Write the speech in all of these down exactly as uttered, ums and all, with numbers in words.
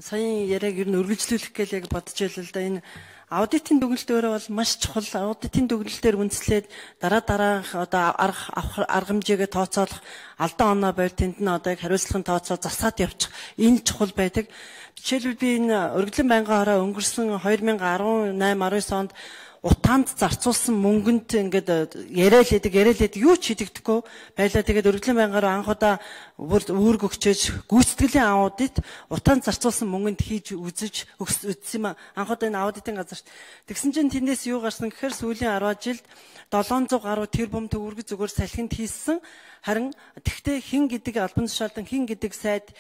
Саяын яриаг ер нь үргэлжлүүлэх гэж яг бодож байлаа л да. Энэ аудитын дүгнэлт өөрөө бол маш чухал. Аудитын дүгнэлтээр үндэслээд дараа дараах одоо арга арга хэмжээгээ тооцоолох, алдан оноо байр тэнд нь одоо яг хариуцлагын тооцоо засаад явчих. Энэ чухал байдаг. Жишээлбэл би энэ өргөдлийн байнгын хороо өнгөрсөн two thousand eighteen nineteen онд утаанд зарцуулсан мөнгөнд ингээд яриа л хэдэг, яриа л хэдэг, юу ч хийдэгдэхгүй байлаа. Тэгээд өргөдлийн байнгаараа анхудаа үүрэг өгчөөж гүйцэтгэлийн аудит утаанд зарцуулсан мөнгөнд хийж үзэж үзсэн юм. Анхудаа энэ аудитын газарт. Тэгсэн чинь тэндээс юу гарсан гэхээр сүүлийн ten жилд seven hundred гаруй тэрбум төгрөг зүгээр салхинд хийсэн. Харин тэгтээ хин гэдэг албан тушаалдан хин гэдэг сайд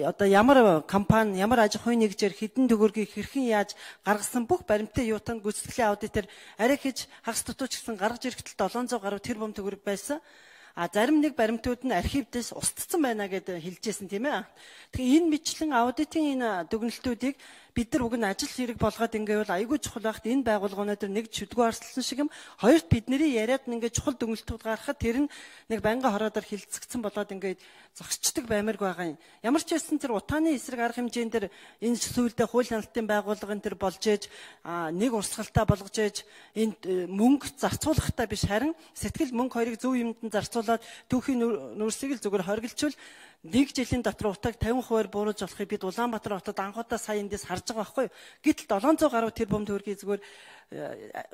одоо ямар компани, ямар аж ахуйн нэгжээр хэдэн төгрөгийг хэрхэн яаж гаргасан бүх баримттай юутанд гүйцэтгэлийн аудитээр арай хийж хагас дутууч гэсэн гаргаж ирэхдээ seven hundred гаруй тэрбум төгрөг байсан. А зарим нэг баримтууд нь архивдээс устцсан байна гэдээ хэлжсэн тийм ээ. Тэгэхээр энэ мэтлэн аудитын энэ дүгнэлтүүдийг бид нар уг нь ажил хэрэг болгоод ингээд бол айгүй чухал байхад энэ байгууллагууд дээр нэг чөдгөө арслсан шиг юм. Хоёрт бидний яриад ингээд чухал дүгнэлтүүд гаргахад тэр нь нэг байнгын хороодоор хилцэгдсэн болоод ингээд зогсчдаг баймирг байгаа юм. Ямар ч байсан тэр утааны эсрэг арга хэмжээнд тэр энэ сүүлдээ хууль хяналтын байгууллагын тэр болж ээж нэг урсгалтай болгож ээж энэ мөнгө зарцуулахтаа биш харин сэтгэл мөнгө хоёрыг зөв юмд нь зарцуулаад түүхийн нүүрсийг л зүгээр хоригдчвал нэг жилийн дотор утааг fifty percent бууруулж болохыг бид Улаанбаатар хотод анхудаа сая эндээс харж байгаа байхгүй юу. Гэтэл seven hundred гаруй тэрбум төгрөгийг зүгээр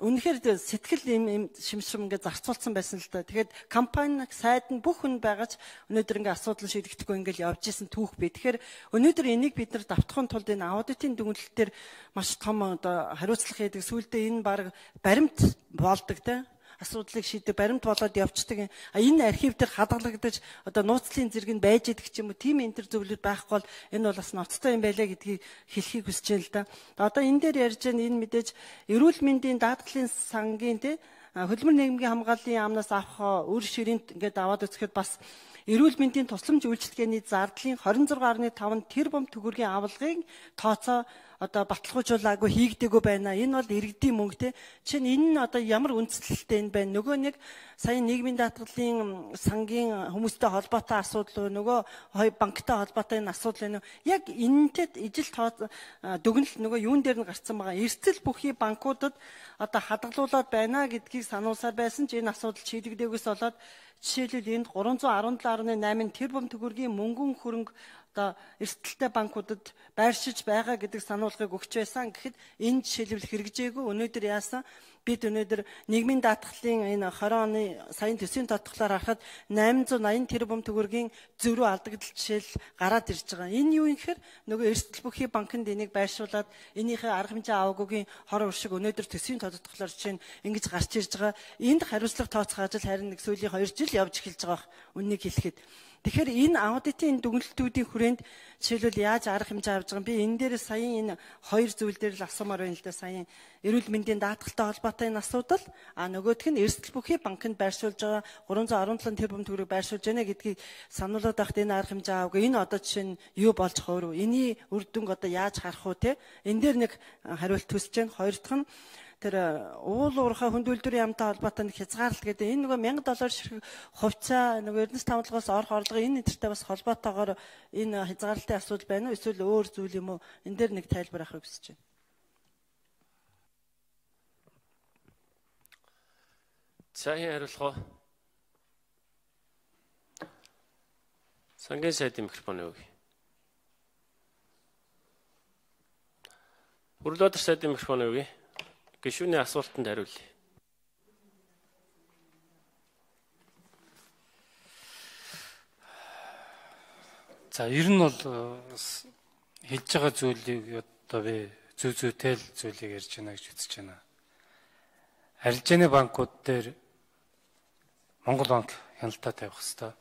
үнэхээр сэтгэл юм шимшрэм ингээд зарцуулсан байсан л да. Тэгэхээр компани сайд нь бүх хүн байгаач өнөөдөр ингээд асуудал шийдэгдэхгүй ингээд явж исэн түүх бий. Тэгэхээр өнөөдөр энийг бид нар давтахын тулд энэ аудитын дүгнэлтээр маш том одоо хариуцлага хийдэг. Сүүлдээ энэ баг баримт болдог те. Асуудлыг шийдэх баримт болоод явцдаг. А энэ архив дээр хадгалагдаж одоо нууцлын зэрэг нь байж идэх ч юм уу тийм энэ төр зөвлөд байхгүй бол энэ бол бас ноцтой юм байлаа гэдгийг хэлхийг хүсэж байна л да. Одоо энэ дээр ярьж байгаа энэ мэдээж эрүүл мэндийн даатгалын сангийн те хөдөлмөр нийгмийн хамгааллын яамнаас авах үр ширээнд ингээд аваад үзэхэд бас эрүүл мэндийн тусламж үйлчилгээний зардлын twenty-six point five тэрбум төгрөгийн авалгыг тооцоо одоо баталгаажуулаагүй хийгдэггүй байна. Энэ бол иргэдийн мөнгө те. Чинь энэ нь одоо ямар үндэслэлтэй энэ байна. Нөгөө нэг сая нийгмийн даатгалын сангийн хүмүүстэй холбоотой асуудал уу, нөгөө хоёр банктай холбоотой энэ асуудал байна уу. Яг энэтэй ижил тоо дүгнэлт нөгөө юун дээр нь гарцсан байгаа. Эрсдэл бүхий банкудад одоо хадгалуулаад байна гэдгийг сануулсаар байсан ч энэ асуудал шийдэгдээгүйс болоод жишээлбэл энд three hundred seventeen point eight тэрбум төгрөгийн мөнгөн хөрөнгө одоо эрсдэлтэй банкудад байршиж байгаа гэдэг сануулгыг өгч байсан. Гэхэд энэ жишээлбэл хэрэгжээгүй. Өнөөдөр яасан? Бид өнөөдөр нийгмийн даатгалын энэ twenty оны саяын төсвийн тодтголоор харахад eight hundred eighty тэрбум төгрөгийн зөрүү алдагдал жишээл гараад ирж байгаа. Энэ юу юм гэхээр нөгөө эрсдэл бүхий банкнд энийг байршуулад энийхээ арга хэмжээ аваагүй хор уршиг өнөөдөр төсвийн тодтголоор жишээ нь ингэж гарч ирж байгаа. Энд хариуцлага тооцох ажил харин нэг сүүлийн two жил явж эхэлж байгаа. Үннийг хэлэхэд тэгэхээр энэ аудитын дүгнэлтүүдийн хүрээнд жишээлбэл яаж арга хэмжээ авч байгаа юм. Би энэ дээр саяын энэ хоёр зүйл дээр л асуумаар байна л да. Саяын эрүүл мэндийн даатгалтай холбоотой энэ асуудал, а нөгөөх нь эрсдэл бүхий банкнд байршуулж байгаа three hundred seventy тэрбум төгрөг байршуулж байна гэдгийг сануулад байхад энэ арга хэмжээ аваагүй. Энэ одоо жишээ нь юу болж байгаа вэ? Эний үр дүнг одоо яаж харах вэ те? Энэ дээр нэг хариулт төсөж байна. Хоёр дахь нь тэр уул уурхай хүнд үйлдвэрийн яамтай холбоотой нэг хязгаарлалт гэдэг энэ нөгөө one thousand доллар ширхэг хувьцаа нөгөө Эрдэнэс тавталгаас орох орлого энэ нэртэй бас холбоотойгоор энэ хязгаарлалтын асуудал байна уу эсвэл өөр зүйл юм уу энэ дээр нэг тайлбар авахыг хүсэж байна. Сайн хариулах уу? Сангийн сайдын микрофон өгье. Бүрлөөдөр сайдын микрофон өгье. Гишүүний асуултанд хариулъя. За ер нь бол хэлж байгаа зүйлийг одоо би зүй зүйтэй л зүйлийг ярьж байна гэж үзэж байна. Арилжааны банкуд дээр Монгол банк хяналтаа тавих хэрэгтэй.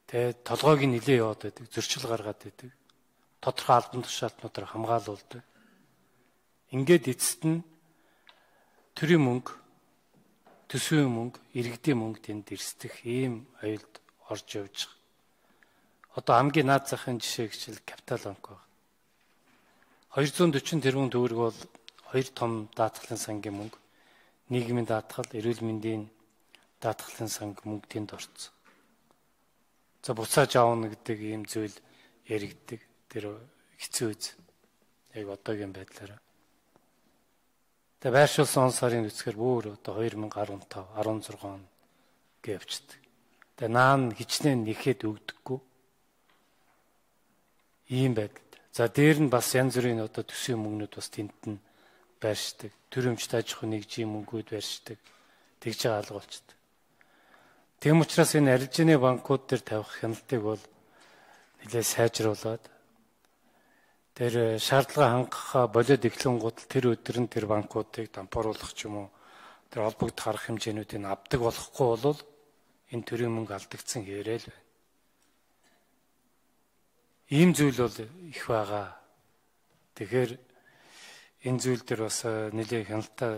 Тэгээд толгойг нилээ яваад байдаг, зөрчил гаргаад байдаг. Тодорхой албан тушаалтнуудаар хамгаалуулдаг. Ингээд эцэст нь төрийн мөнгө, төсвийн мөнгө, иргэдийн мөнгө тэнд эрсдэх ийм аюулд орж явж байгаа. Одоо хамгийн наад захын жишээ гэхэл Капитал банк байна. two hundred forty тэрбум төгрөг бол хоёр том даатгалын сангийн мөнгө, нийгмийн даатгал, эрүүл мэндийн даатгалын санг мөнгө тэнд орцсон. За буцааж аавна гэдэг ийм зүйл яригддаг. Тэр хэцүү үз. Яг одоогийн байдлаараа. Тэгээ байршуулсан он сарын үсгээр бүр одоо two thousand fifteen, sixteen он гэвчдэг. Тэгээ наан хичнээн нэхэд өгдөггүй. Ийм байдал. За дээр нь бас янз бүрийн одоо төсвийн мөнгнүүд бас тэнд нь байршдаг. Төрөмжт аж ахуйн нэгжийн мөнгүүд байршдаг. Тэгж байгаа алга болчихдээ. Тэм учраас энэ арилжааны банкуд дээр тавих хяналтыг бол нэлээд сайжруулад тэр шаардлага хангах болоод эхлэнгууд тэр өдөр нь тэр банкуудыг дампууруулах ч юм уу тэр холбогдох арга хэмжээнүүдийг авдаг болохгүй бол энэ төрийн мөнгө алдагдсан хэвээрэл байна. Ийм зүйл бол их байгаа. Тэгэхээр энэ зүйл дээр бас нэлээд хяналтаа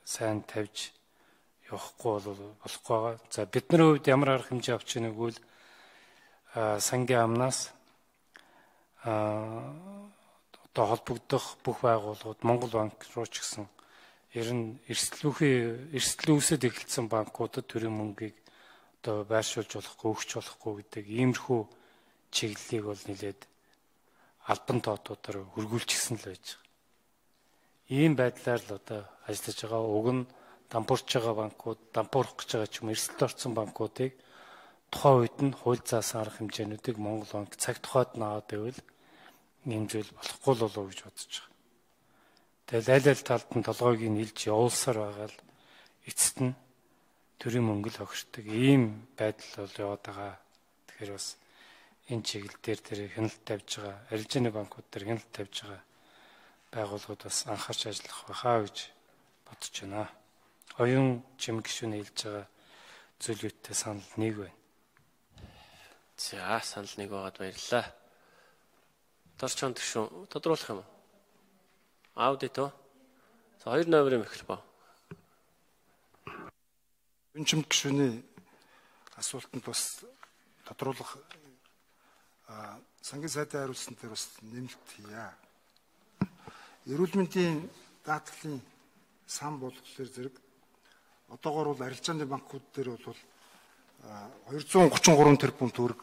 сайн тавьж явахгүй бол болохгүй байгаа. За бидний хувьд ямар арга хэмжээ авч ийнэ гэвэл сангийн амнаас одоо холбогдох бүх байгууллагууд Монгол банк руу ч гэсэн ер нь эрсдлүүхий эрсдлүүсэд эхэлсэн банкудад төрийн мөнгийг одоо байршуулж болохгүй, өгч болохгүй гэдэг иймэрхүү чиглэлийг бол нэлээд албан тоотуудаар хөргүүлчихсэн л байж байгаа. Ийм байдлаар л одоо ажиллаж байгаа. Уг нь дампуурч байгаа банкуд, дампуурах гэж байгаа ч юм эрсдэлд орсон банкуудыг тухайн үед нь хууль заасан арга хэмжээнүүдийг Монгол банк цаг тухайд нь аваад байвал ийм зүйл болохгүй л болов гэж бодож байгаа. Тэгэл аль аль талд нь толгойг нь илж явуулсаар байгаа л эцэст нь төрийн мөнгө л огшдог. Ийм байдал бол яваад байгаа. Тэгэхээр бас энэ чиглэл дээр тэр хяналт тавьж байгаа, арилжааны банкуд дээр хяналт тавьж байгаа байгууллагууд бас анхаарч ажиллах байхаа гэж бодож байна. Оюун чимэг гишүүн хэлж байгаа зүйлүүдтэй санал нэг байна. За санал нэг байгаад баярлалаа. Дорчон гишүүн тодруулах юм уу? Аудит оо. За хоёр номерын эхлэх ба. Оюун чимэг гишүүний асуултанд бас тодруулах сангийн сайдын хариулсан дээр бас нэмэлт хийя. Эрүүл мэндийн даатгалын сан болохоор зэрэг одоогоор бол арилжааны банкуд дээр бол two hundred thirty-three тэрбум төгрөг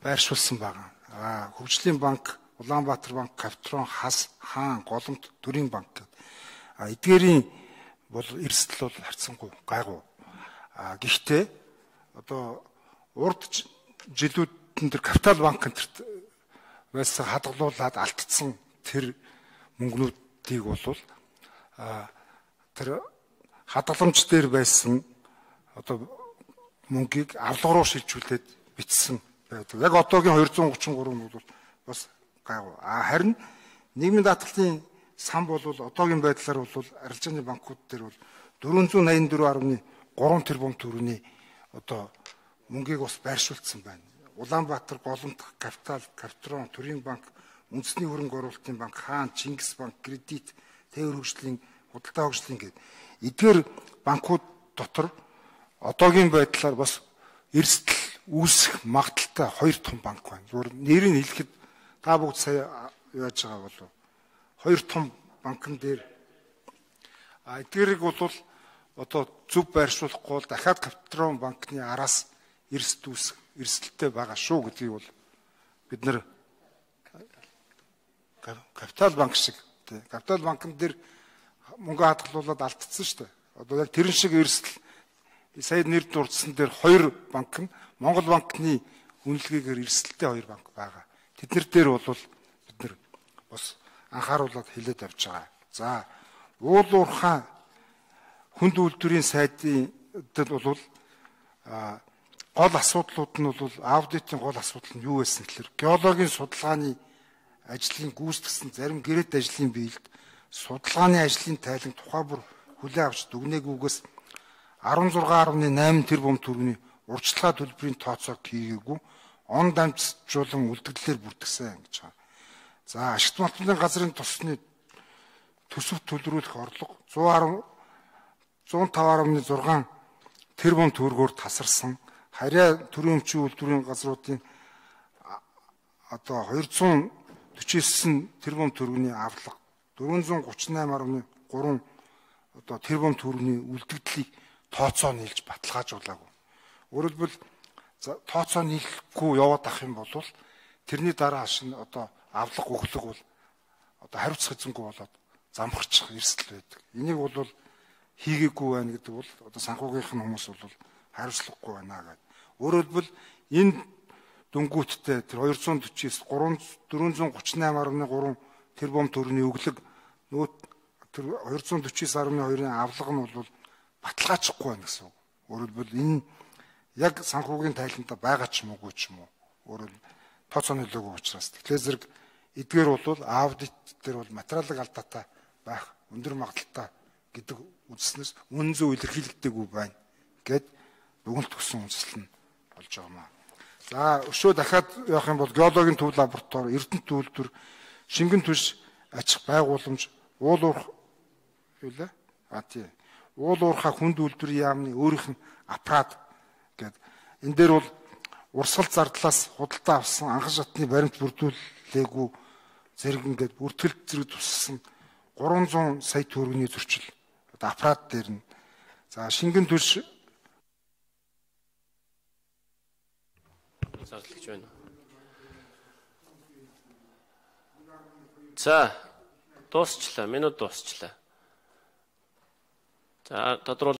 байршуулсан байгаа. Аа хөгжлийн банк, Улаанбаатар банк, Капитрон, Хас, Хаан, Голомт, Төрийн банк гэдэг. А эдгээрийн бол эрсдэл бол харьцангуй гайгүй. А гэхдээ одоо урд жилүүд тэр капитал банк энтерт байсан хадгалуулаад алдсан тэр мөнгнүүдийг бол тэр хадгаламж дээр байсан одоо мөнгийг авлага руу шилжүүлээд бичсэн байдаг. Яг одоогийн two hundred thirty-three нь бол бас гайгүй. А харин нийгмийн даатгалын сан бол одоогийн байдлаар бол арилжааны банкуд дээр бол four eighty-four point three тэрбум төгрөгийн одоо мөнгийг бас байршуулсан байна. Улаанбаатар, Голомт, Капитал, Капитрон, Төрийн банк, Үндэсний хөрөнгө оруулалтын банк, Хаан, Чингис банк, Кредит, Тээвэр хөгжлийн, Худалдаа хөгжлийн гэдэг эдгээр банкуд дотор одоогийн байдлаар бас эрсдэл үүсэх магадaltaй хоёр том банк байна. Зүгээр нэрийг хэлэхэд та бүгд сая яаж байгаа болов? Хоёр том банкн дээр а эдгээрийг бол одоо зөв байршуулахгүй бол дахиад Капитрон банкны араас эрсдэл үүсэх эрсдэлтэй байгаа шүү гэдгийг бол бид нэр Капитал банк шиг Капитал банкн дээр мөнгө хадгалуулаад алдсан шүү дээ. Одоо яг тэрэн шиг эрсдэл сая нэр дурдсан дээр хоёр банк нь Монгол банкны үнэлгээгээр эрсдэлтэй хоёр банк байгаа. Тэднэр дээр бол бид нэр бас анхааруулад хилээд авч байгаа. За уул уурхай хүнд үйлдвэрийн сайдын бол гол асуудлууд нь бол аудитын гол асуудал нь юу байсан гэхээр геологийн судалгааны ажлын гүйцэтгсэн зарим гэрээт ажлын биелэлд судалгааны ажлын тайлан тухай бүр хүлээн авч дүгнээгүйгээс sixteen point eight тэрбум төгрөгийн урьдчилгаа төлбөрийн тооцоог хийгээгүй он дамжуулан үлдэгдлээр бүрдгсэн гэж байна. За ашигт малтны газрын тусны төсөв төлрүүлэх орлого one oh five point six тэрбум төгрөгөөр тасарсан. Харьяа төрийн өмчийн үйлдвэрийн газруудын одоо two hundred forty-nine тэрбум төгрөгийн авлага four hundred thirty-eight point three одоо тэрбум төгрөгийн үлдэгдлийг тооцоо нийлж баталгаажуулаагүй. Өөрөлдвөл тооцоо нийлэхгүй яваад ах юм бол тэрний дараа шин одоо авлага өглөг бол одоо хариуцах эзэнгүй болоод замхарчих эрсдэл байдаг. Энийг бол хийгээгүй байна гэдэг бол одоо санхүүгийнх нь хүмүүс бол хариуцлагагүй байна гэдэг. Өөрөөр хэлбэл энэ дүнгуудтай тэр хоёр зуун дөрвөөс дөрвөн зуун гуйч восемь гаруй гурван тэрбум төгрөгийн өглөг нөгөө тэр хоёр зуун дөрвөөс гаруй хоёрын авлага нь бол баталгаажихгүй байна гэсэн үг. Өөрөөр хэлбэл энэ яг санхүүгийн тайлантай байгаа ч юм уугүй ч юм уу. Өөрөөр тооцоо нөлөөгүй учраас. Тэгэхээр зэрэг эдгээр бол аудит дээр бол материалын алдаатай байх өндөр магадaltaй гэдэг үндснээс үнэн зөв илэрхийлэгдээгүй байна гэд дүгнэлт өгсөн үндэслэл нь болж байгаа маа. За өшөө дахиад явах юм бол геологийн төв лаборатори, Эрдэнэт үйлдвэр, шингэн түлш аж ахуй байгууламж, уул уурх юу лээ? А тий. Уул уурхай хүнд үйлдвэрийн яамны өөрийнх нь аппарат гэд энэ дээр бол урсгал зардлаас худалдаа авсан анхан шатны баримт бүрдүүлээгүй зэрэг ингээд бүртгэлт зэрэг туссан гурван зуун сая төгрөгийн зөрчил одоо аппарат дээр нь за шингэн түлш зарлагдж байна. За дуусчлаа. Минут дуусчлаа. За тодорхой